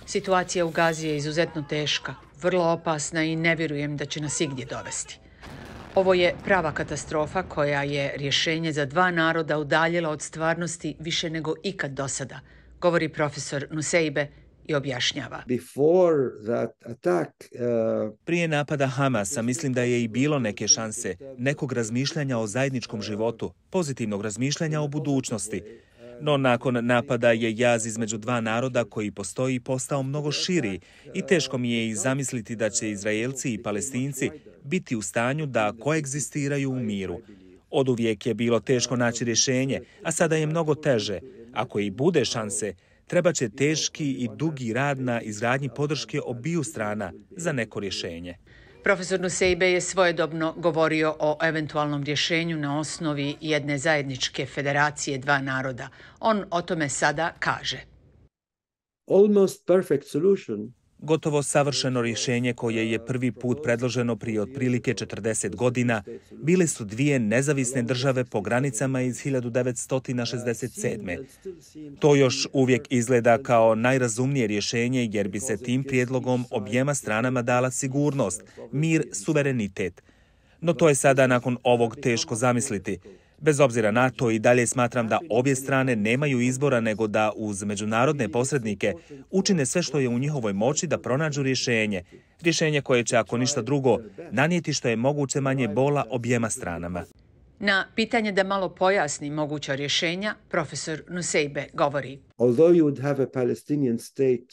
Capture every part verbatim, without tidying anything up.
Situacija u Gazi je izuzetno teška, vrlo opasna i ne vjerujem da će nas igdje dovesti. Ovo je prava katastrofa koja je rješenje za dva naroda udaljila od stvarnosti više nego ikad do sada, govori profesor Nuseibe i objašnjava. Prije napada Hamasa mislim da je i bilo neke šanse, nekog razmišljanja o zajedničkom životu, pozitivnog razmišljanja o budućnosti. No nakon napada je jaz između dva naroda koji postoji postao mnogo širi i teško mi je i zamisliti da će Izraelci i Palestinci biti u stanju da koegzistiraju u miru. Oduvijek je bilo teško naći rješenje, a sada je mnogo teže. Ako i bude šanse, treba će teški i dugi rad na izgradnji podrške obiju strana za neko rješenje. Profesor Nuseibe je svojedobno govorio o eventualnom rješenju na osnovi jedne zajedničke federacije dva naroda. On o tome sada kaže. Almost perfect solution. Gotovo savršeno rješenje koje je prvi put predloženo prije otprilike četrdeset godina bile su dvije nezavisne države po granicama iz hiljadu devetsto šezdeset sedme. To još uvijek izgleda kao najrazumnije rješenje jer bi se tim prijedlogom objema stranama dala sigurnost, mir, suverenitet. No to je sada nakon ovog teško zamisliti. Bez obzira na to i dalje smatram da obje strane nemaju izbora nego da uz međunarodne posrednike učine sve što je u njihovoj moći da pronađu rješenje. Rješenje koje će, ako ništa drugo, nanijeti što je moguće manje bola objema stranama. Na pitanje da malo pojasni moguća rješenja, profesor Nuseibe govori. Although you would have a Palestinian state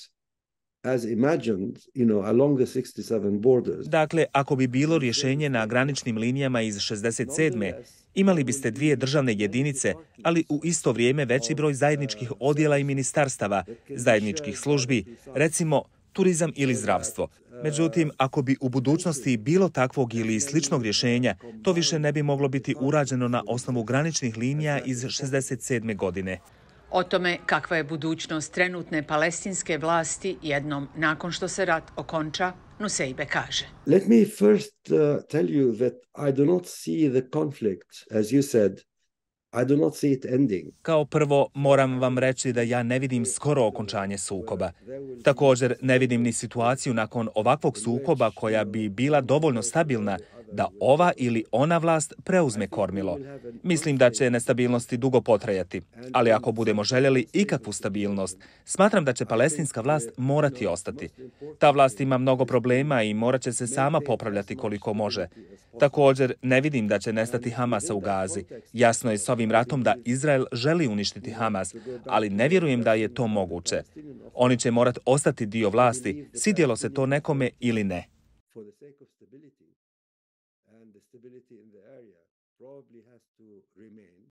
as imagined, you know, along the sixty-seven borders. Dakle, ako bi bilo rješenje na graničnim linijama iz šezdeset sedme, imali biste dvije državne jedinice, ali u isto vrijeme veći broj zajedničkih odjela i ministarstava, zajedničkih službi, recimo turizam ili zdravstvo. Međutim, ako bi u budućnosti bilo takvog ili sličnog rješenja, to više ne bi moglo biti urađeno na osnovu graničnih linija iz šezdeset sedme godine. O tome kakva je budućnost trenutne palestinske vlasti jednom nakon što se rat okonča, Nuseibe kaže. Let me first uh, tell you that I do not see the conflict, as you said, I do not see it ending. Kao prvo, moram vam reći da ja ne vidim skoro okončanje sukoba. Također, ne vidim ni situaciju nakon ovakvog sukoba koja bi bila dovoljno stabilna da ova ili ona vlast preuzme kormilo. Mislim da će nestabilnosti dugo potrajati, ali ako budemo željeli ikakvu stabilnost, smatram da će palestinska vlast morati ostati. Ta vlast ima mnogo problema i morat će se sama popravljati koliko može. Također, ne vidim da će nestati Hamasa u Gazi. Jasno je s ovim ratom da Izrael želi uništiti Hamas, ali ne vjerujem da je to moguće. Oni će morati ostati dio vlasti, svidjelo se to nekome ili ne. And the stability in the area probably has to remain.